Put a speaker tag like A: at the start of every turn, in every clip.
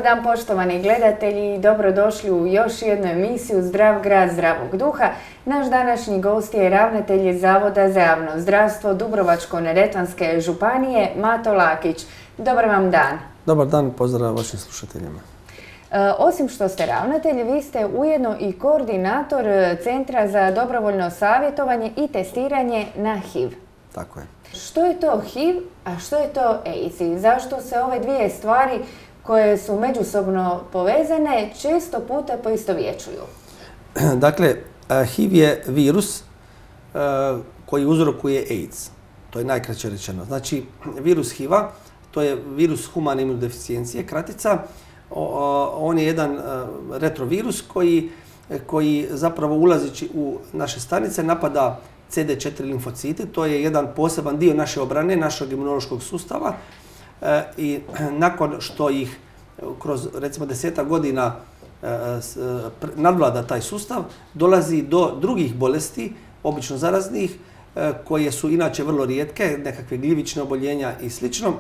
A: dan poštovani gledatelji i dobrodošli u još jednu emisiju Zdrav grad zdravog duha. Naš današnji gost je ravnatelj Zavoda za javno zdravstvo Dubrovačko-neretvanske županije Mato Lakić. Dobar vam dan.
B: Dobar dan, pozdrav vašim slušateljima.
A: Osim što ste ravnatelj, vi ste ujedno i koordinator Centra za dobrovoljno savjetovanje i testiranje na HIV.
B: Tako je.
A: Što je to HIV, a što je to AIDS? I zašto se ove dvije stvari koje su međusobno povezane često puta poistovjećuju?
B: Dakle, HIV je virus koji uzrokuje AIDS. To je najkraće rečeno. Znači, virus HIV-a, to je virus humane imunodeficijencije, kratica. On je jedan retrovirus koji zapravo ulazeći u naše stanice napada CD4 limfocite. To je jedan poseban dio naše obrane, našeg imunološkog sustava. I nakon što ih kroz recimo 10 godina nadvlada taj sustav, dolazi do drugih bolesti, obično zaraznih, koje su inače vrlo rijetke, nekakve gljivične oboljenja i slično,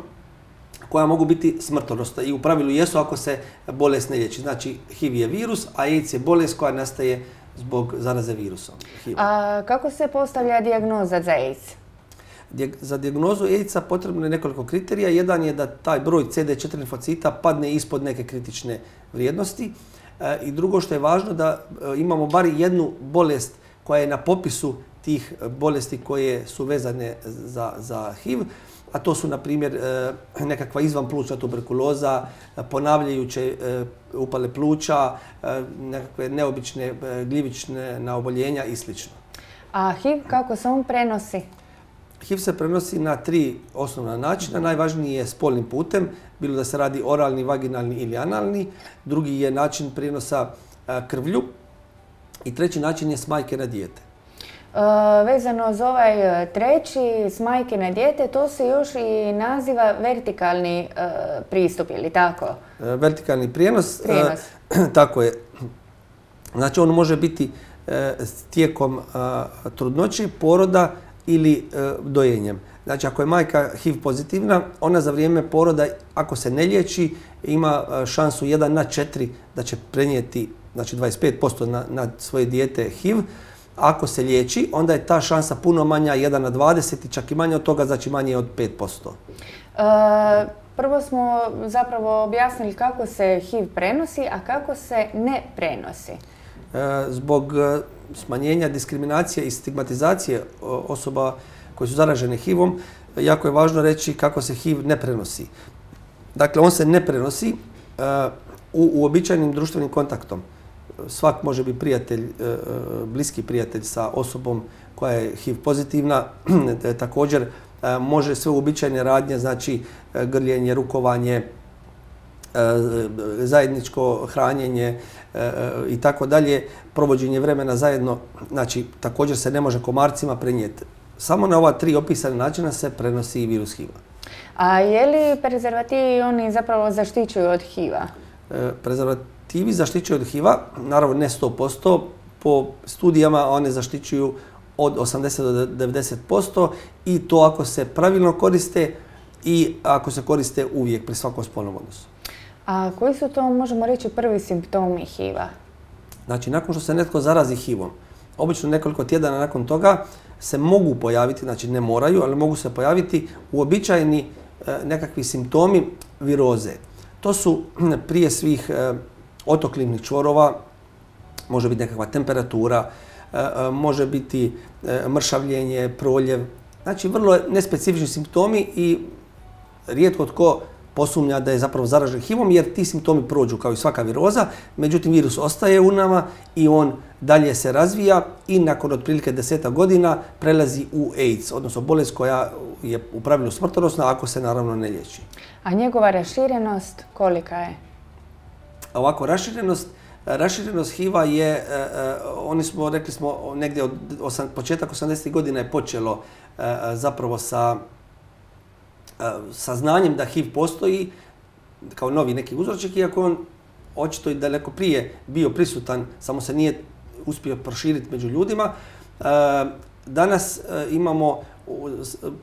B: koja mogu biti smrtonosna i u pravilu jesu ako se bolest ne liječi. Znači, HIV je virus, a AIDS je bolest koja nastaje zbog zaraze virusom.
A: A kako se postavlja dijagnoza za AIDS?
B: Za dijagnozu AIDS-a potrebno je nekoliko kriterija. Jedan je da taj broj CD4 limfocita padne ispod neke kritične vrijednosti. I drugo što je važno da imamo bar jednu bolest koja je na popisu tih bolesti koje su vezane za HIV. A to su, na primjer, nekakva izvanplućna tuberkuloza, ponavljajuće upale pluća, nekakve neobične gljivične oboljenja i sl.
A: A HIV, kako se on prenosi?
B: HIV se prenosi na 3 osnovna načina. Najvažniji je spolnim putem, bilo da se radi oralni, vaginalni ili analni. Drugi je način prijenosa krvlju. I treći način je s majke na dijete.
A: Vezano za ovaj treći, s majke na dijete, to se još i naziva vertikalni pristup, ili tako?
B: Vertikalni prijenos. Tako je. Znači, on može biti tijekom trudnoće, poroda ili dojenjem. Znači, ako je majka HIV pozitivna, ona za vrijeme poroda, ako se ne liječi, ima šansu 1:4 da će prenijeti, znači 25% na svoje dijete HIV. Ako se liječi, onda je ta šansa puno manja, 1:20 i čak i manje od toga, znači manje od 5%.
A: Prvo smo zapravo objasnili kako se HIV prenosi, a kako se ne prenosi.
B: Zbog smanjenja diskriminacije i stigmatizacije osoba koje su zaražene HIV-om, jako je važno reći kako se HIV ne prenosi. Dakle, on se ne prenosi uobičajenim društvenim kontaktom. Svak može biti prijatelj, bliski prijatelj sa osobom koja je HIV pozitivna. Također može sve uobičajene radnje, znači grljenje, rukovanje, zajedničko hranjenje i tako dalje, provođenje vremena zajedno, znači također se ne može komarcima prenijeti. Samo na ova 3 opisane načina se prenosi i virus HIV-a.
A: A je li prezervativi oni zapravo zaštićuju od HIV-a?
B: Prezervativi zaštićuju od HIV-a, naravno ne 100%, po studijama one zaštićuju od 80 do 90% i to ako se pravilno koriste i ako se koriste uvijek pri svakom spolnom odnosu.
A: A koji su to, možemo reći, prvi simptomi HIV-a?
B: Znači, nakon što se netko zarazi HIV-om, obično nekoliko tjedana nakon toga se mogu pojaviti, znači ne moraju, ali mogu se pojaviti uobičajeni nekakvi simptomi viroze. To su prije svih otok limfnih čvorova, može biti nekakva temperatura, može biti mršavljenje, proljev. Znači, vrlo nespecifični simptomi i rijetko tko posumnja da je zapravo zaražen HIV-om jer ti simptomi prođu kao i svaka viroza, međutim virus ostaje u nama i on dalje se razvija i nakon otprilike 10 godina prelazi u AIDS, odnosno bolest koja je u pravilu smrtonosna ako se naravno ne liječi. A
A: njegova raširenost kolika je?
B: Ovako, raširenost HIV-a je, rekli smo, negdje od početak 80. godina je počelo zapravo sa saznanjem da HIV postoji kao novi neki uzročnik, iako on očito i daleko prije bio prisutan, samo se nije uspio proširiti među ljudima. Danas imamo,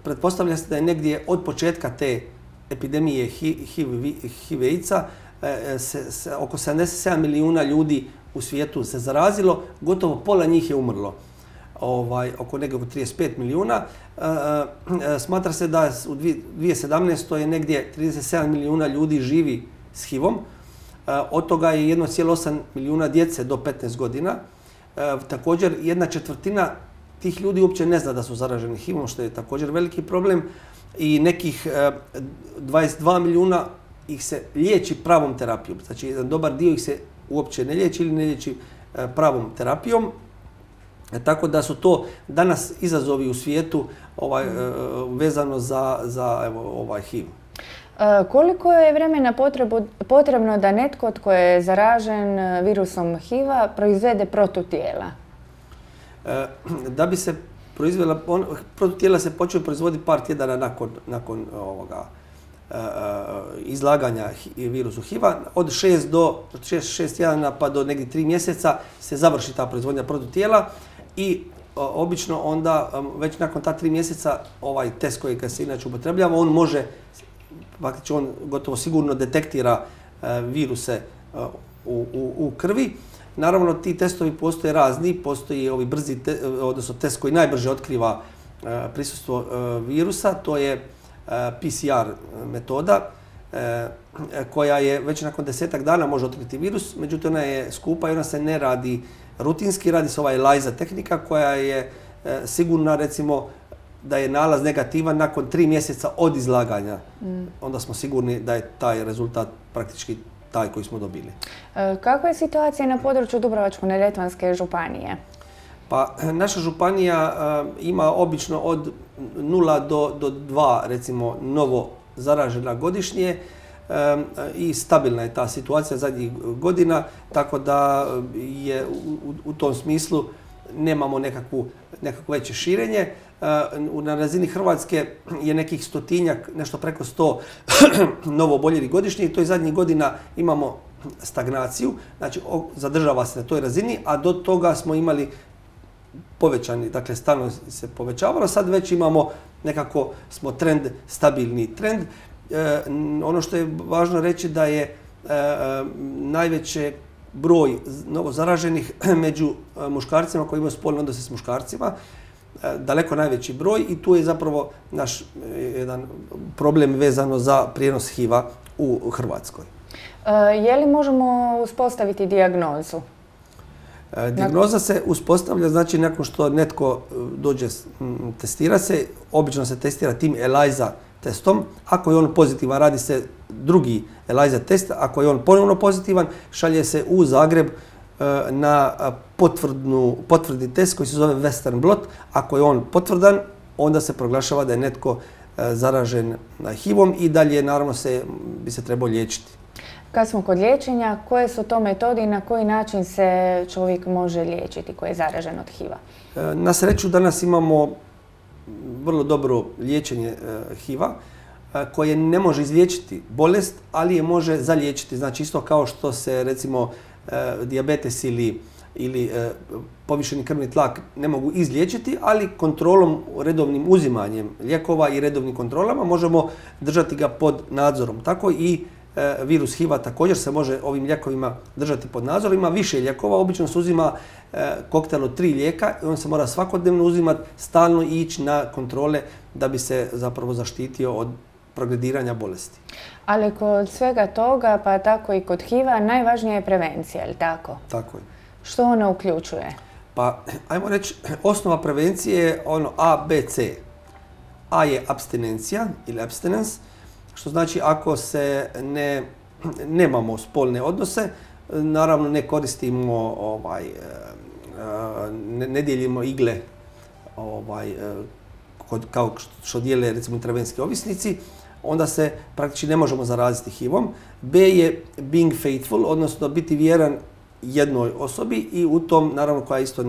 B: pretpostavlja se da je negdje od početka te epidemije HIV-AIDS-a oko 77 milijuna ljudi u svijetu se zarazilo, gotovo pola njih je umrlo. Oko nekako 35 milijuna. Smatra se da u 2017. je negdje 37 milijuna ljudi živi s HIV-om. Od toga je 1,8 milijuna djece do 15 godina. Također, 1/4 tih ljudi uopće ne zna da su zaraženi HIV-om, što je također veliki problem. I nekih 22 milijuna ih se liječi pravom terapijom. Znači, jedan dobar dio ih se uopće ne liječi ili ne liječi pravom terapijom. Tako da su to danas izazovi u svijetu vezano za HIV.
A: Koliko je vremena potrebno da netko tko je zaražen virusom HIV-a proizvede protutijela?
B: Da bi se proizvela, protutijela se počeo proizvoditi par tjedana nakon izlaganja virusu HIV-a. Od 6 tjedana pa do negdje 3 mjeseca se završi ta proizvodnja protutijela i obično onda već nakon ta 3 mjeseca ovaj test koji se inače upotrebljava, on može, faktički on gotovo sigurno detektira viruse u krvi. Naravno, ti testovi postoje razni, postoji ovi brzi, odnosno test koji najbrže otkriva prisustvo virusa, to je PCR metoda koja je već nakon 10-ak dana može otkriti virus, međutim ona je skupa i ona se ne radi rutinski, radi se ova ELISA tehnika koja je sigurna, recimo, da je nalaz negativan nakon 3 mjeseca od izlaganja. Onda smo sigurni da je taj rezultat praktički taj koji smo dobili.
A: Kakva je situacija na području Dubrovačko-neretvanske županije?
B: Pa, naša županija ima obično od 0 do 2, recimo, novo zaražena godišnje i stabilna je ta situacija zadnjih godina, tako da je u tom smislu nemamo nekakvo veće širenje. Na razini Hrvatske je nekih 100-tinjak, nešto preko 100 novo oboljelih godišnje i to je zadnjih godina imamo stagnaciju, znači zadržava se na toj razini, a do toga smo imali povećani, dakle stalno se povećavalo, sad već imamo nekako smo trend, stabilni trend. Ono što je važno reći da je najveći broj novozaraženih među muškarcima koji imaju spolne odnose s muškarcima, daleko najveći broj i tu je zapravo naš jedan problem vezano za prijenos HIV-a u Hrvatskoj.
A: Je li možemo uspostaviti dijagnozu?
B: Dijagnoza se uspostavlja, znači nakon što netko dođe testira se, obično se testira tim ELISA testom. Ako je on pozitivan, radi se drugi ELISA test. Ako je on ponovno pozitivan, šalje se u Zagreb na potvrdni test koji se zove Western blot. Ako je on potvrdan, onda se proglašava da je netko zaražen HIV-om i dalje naravno bi se trebao liječiti.
A: Kad smo kod liječenja, koje su to metode i na koji način se čovjek može liječiti koji je zaražen od HIV-a?
B: Na sreću danas imamo vrlo dobro liječenje HIV-a koje ne može izliječiti bolest, ali je može zaliječiti. Znači isto kao što se recimo dijabetes ili povišeni krvni tlak ne mogu izliječiti, ali kontrolom, redovnim uzimanjem lijekova i redovnim kontrolama možemo držati ga pod nadzorom. Tako i virus HIV-a također se može ovim lijekovima držati pod nadzorom. Ima više lijekova, obično se uzima koktel od 3 lijeka i on se mora svakodnevno uzimati, stalno ići na kontrole da bi se zapravo zaštitio od progrediranja bolesti.
A: Ali kod svega toga, pa tako i kod HIV-a, najvažnija je prevencija, je li tako?
B: Tako je.
A: Što ona uključuje?
B: Pa, ajmo reći, osnova prevencije je ono A, B, C. A je apstinencija ili abstinence, što znači ako se nemamo spolne odnose, naravno ne koristimo, ne dijelimo igle kao što dijele recimo intravenski ovisnici, onda se praktički ne možemo zaraziti HIV-om. B je being faithful, odnosno biti vjeran jednoj osobi i u tom, naravno koja je isto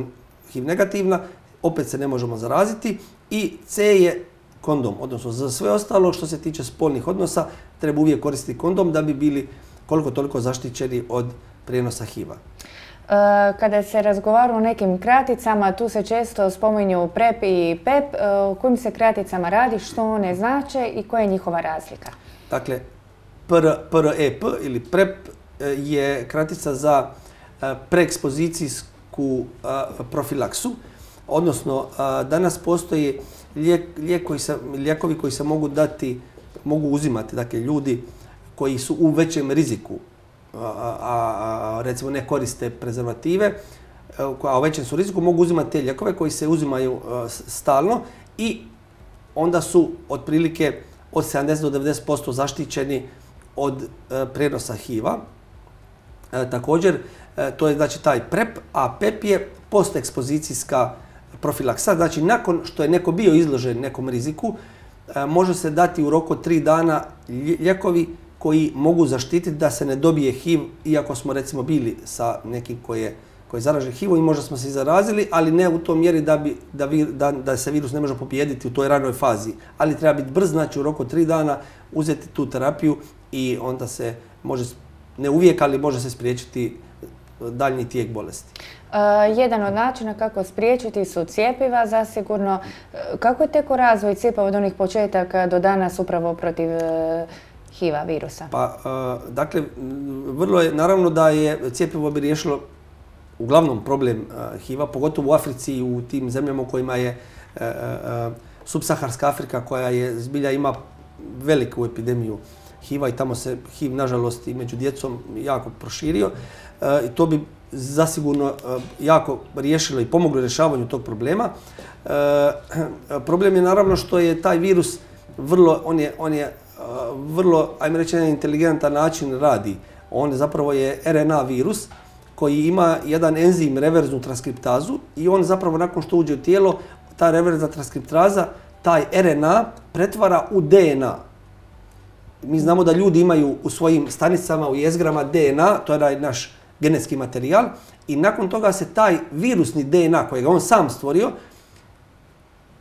B: HIV negativna, opet se ne možemo zaraziti. I C je kondom, odnosno za sve ostalo što se tiče spolnih odnosa treba uvijek koristiti kondom da bi bili koliko toliko zaštićeni od prijenosa HIV-a.
A: Kada se razgovara o nekim kraticama, tu se često spominju PrEP i PEP. O kojim se kraticama radi, što one znače i koja je njihova razlika?
B: Dakle, PrEP ili PrEP je kratica za preekspozicijsku profilaksu, odnosno danas postoji lijekovi koji se mogu uzimati, dakle ljudi koji su u većem riziku, recimo ne koriste prezervative, a u većem su riziku, mogu uzimati te lijekove koji se uzimaju stalno i onda su otprilike od 70 do 90% zaštićeni od prenosa HIV-a. Također, to je znači taj PrEP, a PEP je postekspozicijska profilaksa. Znači, nakon što je neko bio izložen nekom riziku, može se dati u roku 3 dana lijekovi koji mogu zaštititi da se ne dobije HIV, iako smo recimo bili sa nekim koji je zaražen HIV-om i možda smo se i zarazili, ali ne u tom mjeri da se virus ne može pobijediti u toj ranoj fazi. Ali treba biti brz, znači u roku 3 dana uzeti tu terapiju i onda se može, ne uvijek, ali može se spriječiti daljnji tijek bolesti.
A: Jedan od načina kako spriječiti su cjepiva, zasigurno. Kako je tekao razvoj cjepiva od onih početaka do danas upravo protiv HIV-a virusa?
B: Pa, dakle, vrlo je, naravno da je cjepivo bi riješilo uglavnom problem HIV-a, pogotovo u Africi i u tim zemljama u kojima je subsaharska Afrika, koja je zbilja ima veliku epidemiju HIV-a i tamo se HIV, nažalost, i među djecom jako proširio. I to bi zasigurno jako riješilo i pomoglo rješavanju tog problema. Problem je naravno što je taj virus on je vrlo, ajmo reći, na inteligentan način radi. On zapravo je RNA virus koji ima jedan enzim, reverznu transkriptazu, i on zapravo nakon što uđe u tijelo, ta reverzna transkriptaza, taj RNA pretvara u DNA. Mi znamo da ljudi imaju u svojim stanicama, u jezgrama DNA, to je naš genetski materijal, i nakon toga se taj virusni DNA kojeg on sam stvorio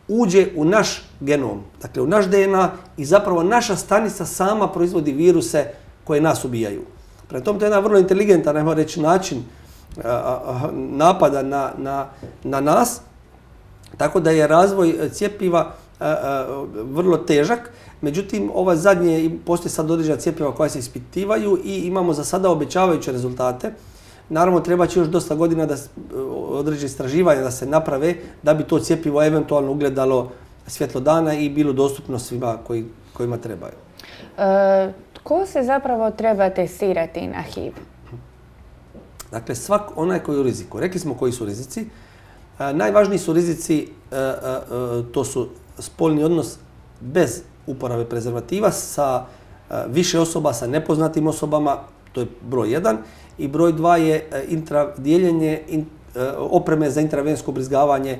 B: uđe u naš genom, dakle u naš DNA, i zapravo naša stanica sama proizvodi viruse koje nas ubijaju. Prema tome, to je jedan vrlo inteligentan, ajmo reći, način napada na nas, tako da je razvoj cjepiva vrlo težak. Međutim, ova zadnje, postoji sad određena cjepiva koja se ispitivaju i imamo za sada obećavajuće rezultate. Naravno, treba će još dosta godina da određene istraživanja da se naprave da bi to cjepivo eventualno ugledalo svjetlo dana i bilo dostupno svima kojima trebaju.
A: Ko se zapravo treba testirati na HIV?
B: Dakle, onaj koji je u riziku. Rekli smo koji su rizici. Najvažniji su rizici, to su spolni odnos bez uporabe prezervativa sa više osoba, sa nepoznatim osobama, to je broj 1. I broj 2 je dijeljenje opreme za intravensko ubrizgavanje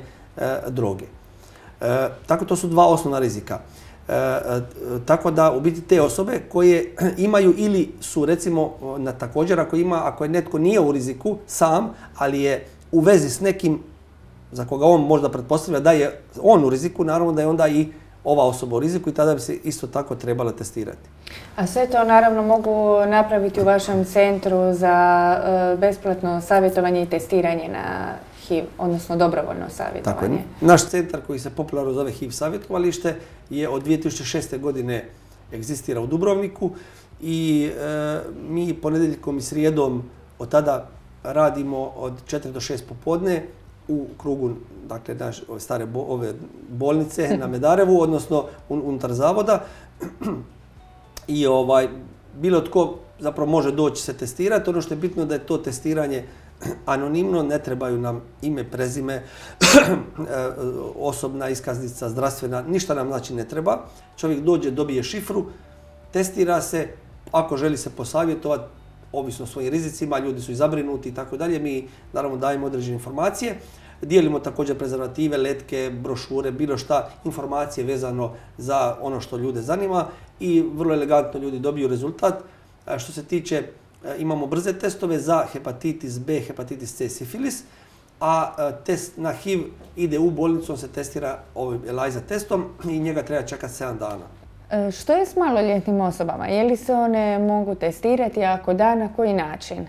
B: droge. Tako, to su 2 osnovna rizika. Tako da u biti te osobe koje imaju ili su recimo također ako je netko nije u riziku sam, ali je u vezi s nekim za koga on možda pretpostavlja da je on u riziku, naravno da je onda i ova osoba u riziku i tada bi se isto tako trebala testirati.
A: A sve to naravno mogu napraviti u vašem centru za besplatno savjetovanje i testiranje na HIV, odnosno dobrovoljno savjetovanje.
B: Tako je. Naš centar koji se popularno zove HIV savjetovalište je od 2006. godine egzistira u Dubrovniku i mi ponedjeljkom i srijedom od tada radimo od 4 do 6 popodne u krugu, dakle, stare ove bolnice na Medarevu, odnosno unutar zavoda. I bilo tko zapravo može doći se testirati. Ono što je bitno da je to testiranje anonimno, ne trebaju nam ime, prezime, osobna iskaznica, zdravstvena, ništa nam znači ne treba. Čovjek dođe, dobije šifru, testira se, ako želi se posavjetovati, ovisno o svojim rizicima, ljudi su i zabrinuti i tako dalje, mi naravno dajemo određene informacije. Dijelimo također prezervative, letke, brošure, bilo šta, informacije vezano za ono što ljude zanima i vrlo elegantno ljudi dobiju rezultat. Što se tiče, imamo brze testove za hepatitis B, hepatitis C, sifilis, a test na HIV ide u bolnicu, on se testira ovim ELISA testom i njega treba čekati 7 dana.
A: Što je s maloljetnim osobama? Je li se one mogu testirati, ako da, na koji način?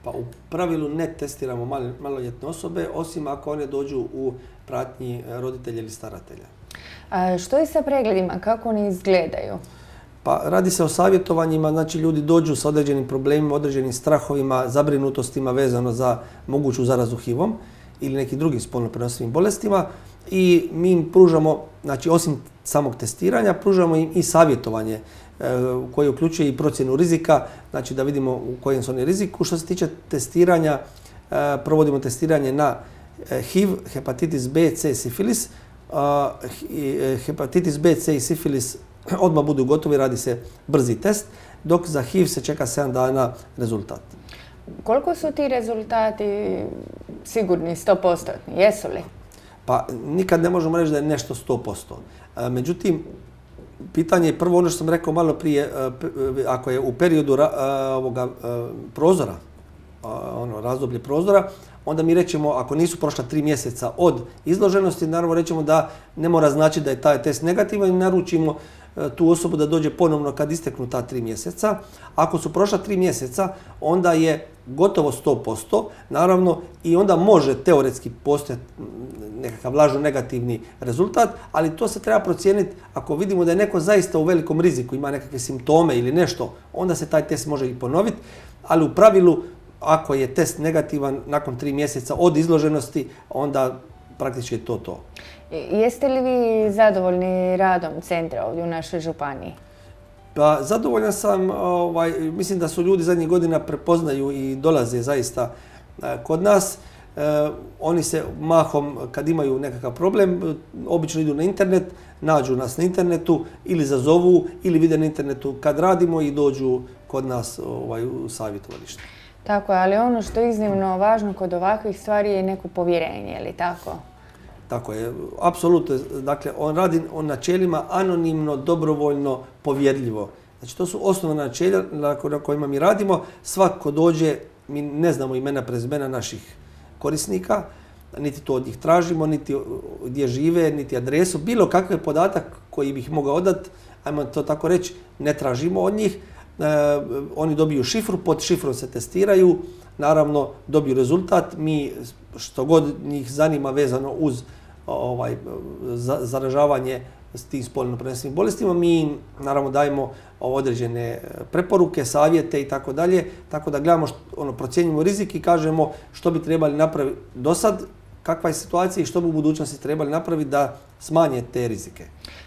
B: Pa u pravilu ne testiramo maloljetne osobe, osim ako one dođu u pratnji roditelja ili staratelja.
A: Što je sa pregledima? Kako oni izgledaju?
B: Pa radi se o savjetovanjima, znači ljudi dođu sa određenim problemima, određenim strahovima, zabrinutostima vezano za moguću zarazu HIV-om ili nekim drugim spolno prenosivim bolestima i mi im pružamo, znači osim samog testiranja, pružamo im i savjetovanje koje uključuje i procjenu rizika, znači da vidimo u kojem su oni riziku. Što se tiče testiranja, provodimo testiranje na HIV, hepatitis B, C, sifilis. Hepatitis B, C i sifilis odmah budu gotovi, radi se brzi test, dok za HIV se čeka 7 dana rezultat.
A: Koliko su ti rezultati sigurni, 100%? Jesu li?
B: Pa nikad ne možemo reći da je nešto 100%. Međutim, pitanje je prvo ono što sam rekao malo prije, ako je u periodu prozora, razdoblje prozora, onda mi rećemo, ako nisu prošla 3 mjeseca od izloženosti, naravno rećemo da ne mora znači da je taj test negativan i naručimo tu osobu da dođe ponovno kad isteknu ta 3 mjeseca. Ako su prošla 3 mjeseca, onda je gotovo 100%, naravno i onda može teoretski postojati nekakav lažno negativni rezultat, ali to se treba procijeniti ako vidimo da je neko zaista u velikom riziku, ima nekakve simptome ili nešto, onda se taj test može i ponoviti, ali u pravilu ako je test negativan nakon 3 mjeseca od izloženosti, onda praktički je to.
A: Jeste li vi zadovoljni radom centra ovdje u našoj županiji?
B: Pa zadovoljan sam, mislim da su ljudi zadnjih godina prepoznaju i dolaze zaista kod nas. Oni se mahom, kad imaju nekakav problem, obično idu na internet, nađu nas na internetu ili zazovu ili vide na internetu kad radimo i dođu kod nas u savjetovalište.
A: Tako je, ali ono što je iznimno važno kod ovakvih stvari je neko povjerenje, je li tako?
B: Tako je, apsolutno. Dakle, on radi o načelima anonimno, dobrovoljno, povjerljivo. Znači, to su osnovna načelja na kojima mi radimo. Svako dođe, mi ne znamo imena, prezimena naših korisnika, niti to od njih tražimo, niti gdje žive, niti adresu. Bilo kakav podatak koji bih mogao odati, ajmo to tako reći, ne tražimo od njih. Oni dobiju šifru, pod šifrom se testiraju, naravno dobiju rezultat. Mi što god njih zanima vezano uz zaražavanje s tim spolno prenosivim bolestima, mi im naravno dajemo određene preporuke, savjete i tako dalje, tako da gledamo, procjenjujemo rizik i kažemo što bi trebali napraviti do sad, kakva je situacija i što bi u budućnosti trebali napraviti da smanje te rizike.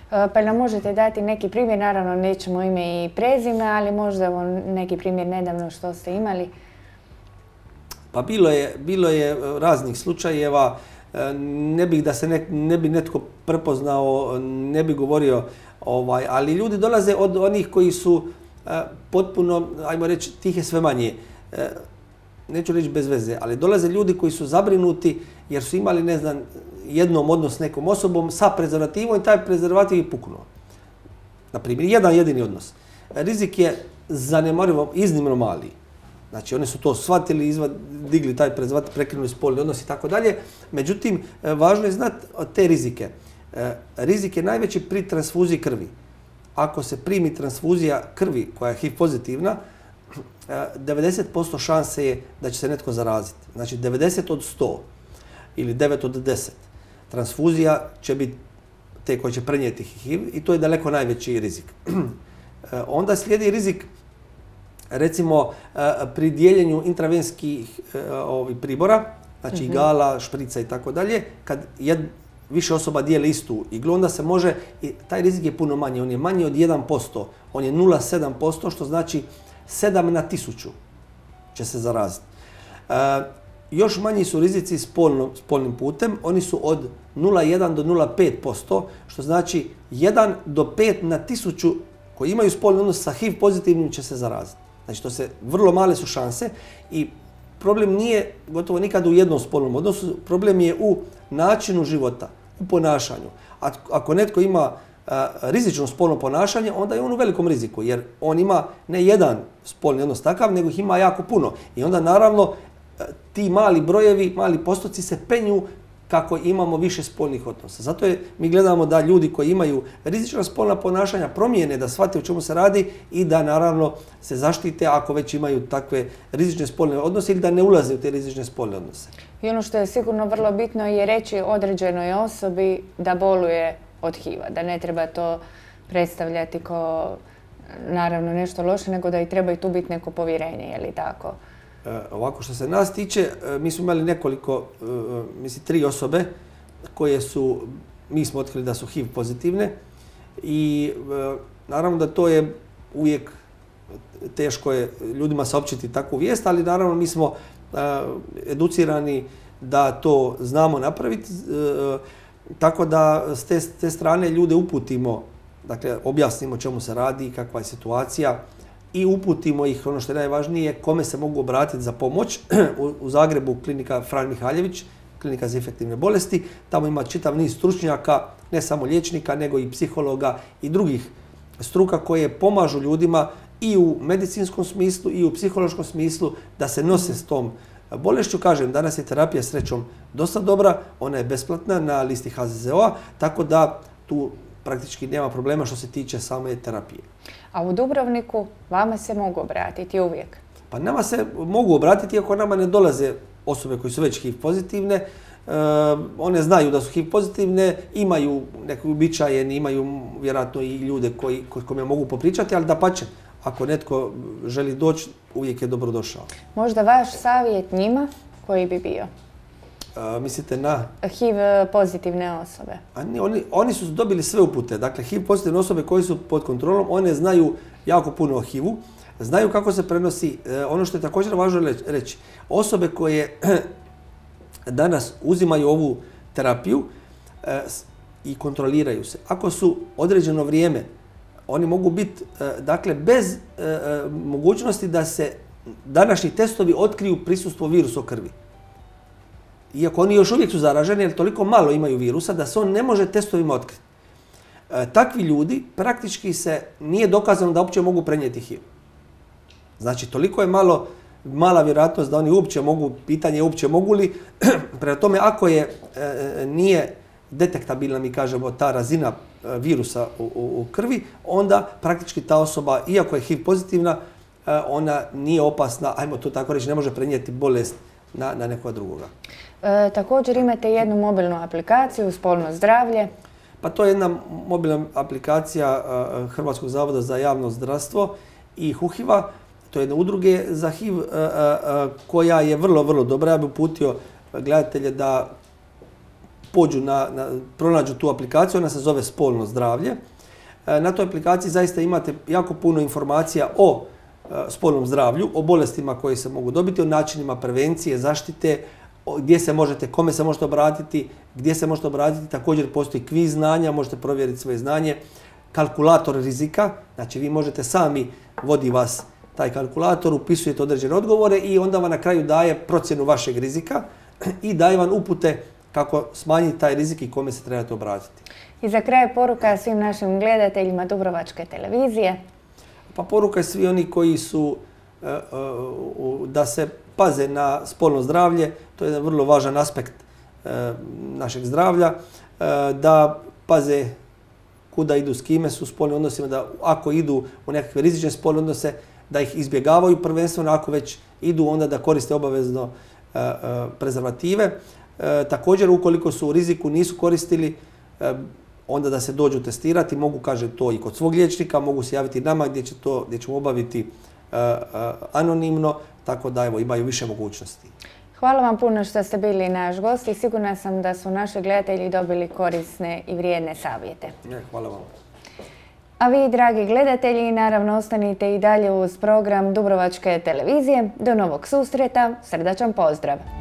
A: Pa nam možete dati neki primjer, naravno nećemo ime i prezime, ali možda neki primjer nedavno što ste imali?
B: Pa bilo je raznih slučajeva, ne bih da se ne bi netko prepoznao, ne bi govorio, ali ljudi dolaze od onih koji su potpuno, ajmo reći, tihe sve manje. Neću reći bez veze, ali dolaze ljudi koji su zabrinuti jer su imali, ne znam, jednom odnos s nekom osobom sa prezervativom i taj prezervativ je puknuo. Naprimjer, jedan jedini odnos. Rizik je zanemarivo iznimno mali. Znači, oni su to shvatili, digli taj prezervativ, prekinuli spolni odnos i tako dalje. Međutim, važno je znati te rizike. Rizik je najveći pri transfuziji krvi. Ako se primi transfuzija krvi koja je HIV pozitivna, 90% šanse je da će se netko zaraziti. Znači 90 od 100 ili 9 od 10. Transfuzija će biti te koje će prenijeti HIV i to je daleko najveći rizik. Onda slijedi rizik, recimo, pri dijeljenju intravenskih pribora, znači igala, šprica i tako dalje, kad više osoba dijeli istu iglu, onda se može, i taj rizik je puno manji, on je manji od 1%, on je 0,7%, što znači 7 na 1000 će se zaraziti. Još manji su rizici spolnim putem, oni su od 0,1 do 0,5%, što znači 1 do 5 na 1000 koji imaju spolni odnos sa HIV pozitivnim će se zaraziti. Znači, to se vrlo male su šanse i problem nije gotovo nikad u jednom spolnom odnosu, problem je u načinu života, u ponašanju. Ako netko ima rizično spolno ponašanje, onda je on u velikom riziku, jer on ima ne jedan spolni odnos takav, nego ih ima jako puno. I onda naravno ti mali brojevi, mali postoci se penju kako imamo više spolnih odnosa. Zato mi gledamo da ljudi koji imaju rizična spolna ponašanja promijene, da shvate o čemu se radi i da naravno se zaštite ako već imaju takve rizične spolne odnose ili da ne ulaze u te rizične spolne odnose.
A: I ono što je sigurno vrlo bitno je reći određenoj osobi da boluje od HIV-a, da ne treba to predstavljati kao naravno nešto loše, nego da i treba i tu biti neko povjerenje, je li tako?
B: Ovako što se nas tiče, mi smo imali nekoliko, mislim 3 osobe koje su, mi smo otkrili da su HIV pozitivne i naravno da to je uvijek teško je ljudima saopćiti takvu vijest, ali naravno mi smo educirani da to znamo napraviti, tako da s te strane ljude uputimo, dakle objasnimo čemu se radi, kakva je situacija i uputimo ih, ono što je najvažnije, kome se mogu obratiti za pomoć. U Zagrebu klinika Fran Mihaljević, klinika za infektivne bolesti, tamo ima čitav niz stručnjaka, ne samo liječnika, nego i psihologa i drugih struka koje pomažu ljudima i u medicinskom smislu i u psihološkom smislu da se nose s tom bolešću. Kažem, danas je terapija srećom dosta dobra, ona je besplatna na listi HZZO-a, tako da tu praktički nema problema što se tiče same terapije.
A: A u Dubrovniku vama se mogu obratiti uvijek?
B: Pa nama se mogu obratiti, iako nama ne dolaze osobe koji su već HIV pozitivne. One znaju da su HIV pozitivne, imaju neke uobičajene, imaju vjerojatno i ljude kojima mogu popričati, ali dapače, ako netko želi doći, uvijek je dobrodošao.
A: Možda vaš savjet njima koji bi bio?
B: Mislite na?
A: HIV pozitivne osobe.
B: Oni su dobili sve upute. Dakle, HIV pozitivne osobe koji su pod kontrolom, one znaju jako puno o HIV-u, znaju kako se prenosi. Ono što je također važno reći, osobe koje danas uzimaju ovu terapiju i kontroliraju se, ako su određeno vrijeme, oni mogu biti, dakle, bez mogućnosti da se današnji testovi otkriju prisustvo virusa u krvi. Iako oni još uvijek su zaraženi, jer toliko malo imaju virusa da se on ne može testovima otkriti. Takvi ljudi praktički se nije dokazano da uopće mogu prenijeti HIV. Znači, toliko je mala vjerojatnost da oni uopće mogu, pitanje je uopće mogu li. Prema tome, ako nije detektabilna, mi kažemo, ta razina virusa u krvi, onda praktički ta osoba, iako je HIV pozitivna, ona nije opasna, ajmo to tako reći, ne može prenijeti bolest na nekoga drugoga.
A: Također imate jednu mobilnu aplikaciju, Spolno zdravlje.
B: Pa to je jedna mobilna aplikacija Hrvatskog zavoda za javno zdravstvo i HUHIV-a. To je jedna udruge za HIV koja je vrlo, vrlo dobra. Ja bih uputio gledatelje da pođu pronađu tu aplikaciju, ona se zove Spolno zdravlje. Na toj aplikaciji zaista imate jako puno informacija o spolnom zdravlju, o bolestima koje se mogu dobiti, o načinima prevencije, zaštite, gdje se možete, kome se možete obratiti, gdje se možete obratiti. Također postoji kviz znanja, možete provjeriti svoje znanje, kalkulator rizika, znači vi možete sami, vodi vas taj kalkulator, upisujete određene odgovore i onda vam na kraju daje procjenu vašeg rizika i daje vam upute kako smanjiti taj rizik i kome se trebate obratiti.
A: I za kraj poruka svim našim gledateljima Dubrovačke televizije.
B: Pa poruka je svi oni koji su da se paze na spolno zdravlje, to je jedan vrlo važan aspekt našeg zdravlja, da paze kuda idu, s kime su u spolnim odnosima, da ako idu u nekakve rizične spolne odnose, da ih izbjegavaju prvenstveno, ako već idu onda da koriste obavezno prezervative. Također, ukoliko su u riziku, nisu koristili, onda da se dođu testirati, mogu, kažem, to i kod svog liječnika, mogu se javiti nama gdje ćemo obaviti anonimno, tako da evo, imaju više mogućnosti.
A: Hvala vam puno što ste bili naš gost i sigurna sam da su naši gledatelji dobili korisne i vrijedne savjete.
B: Hvala vam.
A: A vi, dragi gledatelji, naravno ostanite i dalje uz program Dubrovačke televizije. Do novog susreta, srdačan pozdrav!